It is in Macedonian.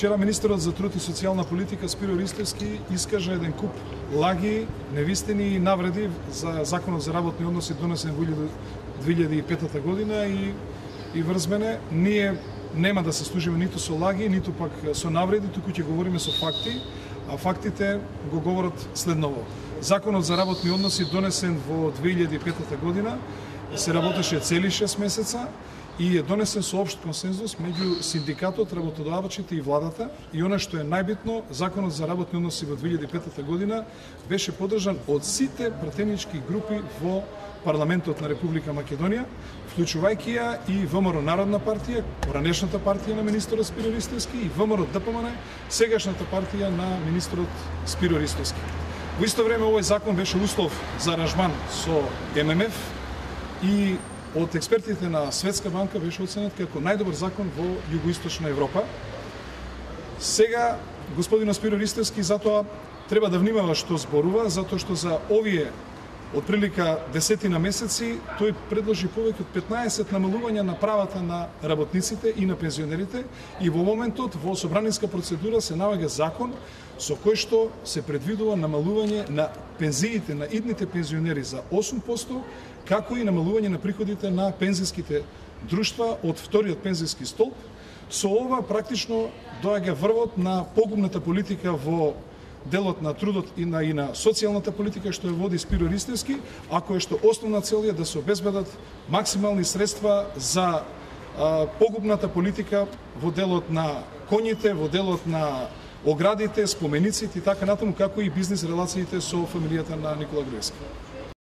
Вчера министерот за труд и социјална политика Спиро Ристевски искажа еден куп лаги, невистини и навреди за законот за работни односи донесен во 2005 година и врз мене ние нема да се служиме ниту со лаги, ниту пак со навреди, туку ќе говориме со факти, а фактите го говорат следново. Законот за работни односи донесен во 2005 година се работеше цели 6 месеца и е донесен со општ консензус меѓу синдикатот, работодавачите и владата. И она што е најбитно, законот за работни односи во 2005 година беше поддржан од сите пратенички групи во парламентот на Република Македонија, вклучувајќи ја и ВМРО Народна партија, поранешната партија на министерот Спиро Ристевски, и ВМРО ДПМН, сегашната партија на министерот Спиро Ристевски. Во исто време овој закон беше услов за аранжман со ММФ и од експертите на Светска банка беше оценет како најдобар закон во Југоисточна Европа. Сега господинот Спиро Ристевски затоа треба да внимава што зборува, затоа што за овие од прилика десетина месеци тој предложи повеќе од 15 намалувања на правата на работниците и на пензионерите, и во моментот во собранинска процедура се наоѓа закон со кој што се предвидува намалување на пензиите на идните пензионери за 8%, како и намалување на приходите на пензиските друштва од вториот пензиски столб. Со ова практично доаѓа врвот на погубната политика во делот на трудот и на социјалната политика што ја води Спиро Ристевски, а која што основна цел е да се обезбедат максимални средства за погубната политика во делот на коњите, во делот на оградите, спомениците и така натаму, како и бизнис релациите со фамилијата на Никола Груевски.